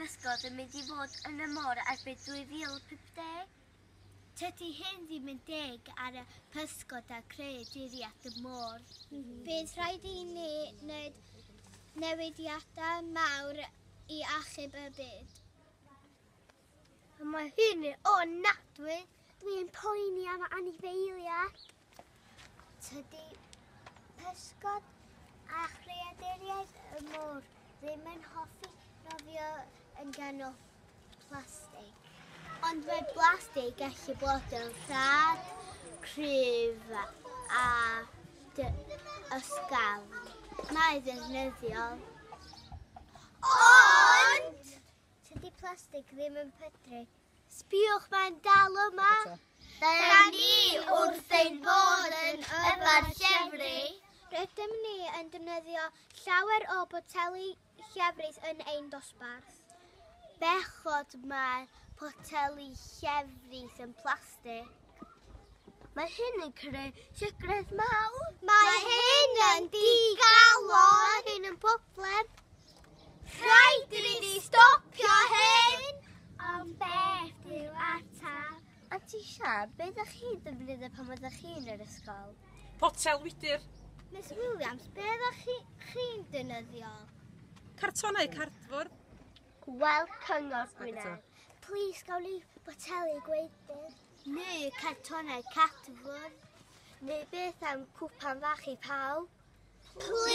pysgod yn mynd i fod yn y môr erbyn 2050. Tydi hyn ddim yn deg ar y pysgod a creaduriaid y môr. Bydd rhaid i ni wneud newidiadau mawr i achub y byd. Mae hyn yn ofnadwy. Dwi'n poeni am anifeiliaid. Tydi pysgod a chreaduriaid y môr ddim yn hoffi nofio yn ganol plastig. Ond mae blastig gallu bod yn rhad, cryf a ysgafn. Mae ddefnyddiol. Ond! Tydi plastig ddim yn pydru. Sbiwch, mae'n dal yma. Da ni wrth ein bod yn yfed llefrith. Rydym ni yn defnyddio llawer o boteli llefrith yn ein dosbarth. Bechod mae poteli llefrith yn plastig. Mae hyn yn creu llygredd mawr. Mae hyn yn digalon. Mae hyn yn problem. Rhaid i ni stopio hyn! Ond beth yw atab? Anti Sian, beth ydych chi'n defnyddio pan oeddech chi'n yr ysgol? Potel wydyr. Miss Williams, beth ydych chi'n defnyddio? Cartonau cardfwrdd. Wel, Cyngor Gwynedd. Plis, gawn ni boteli gwydr. Neu cartonau cardfwrdd. Neu beth am cwpan fach i pawb. Plis!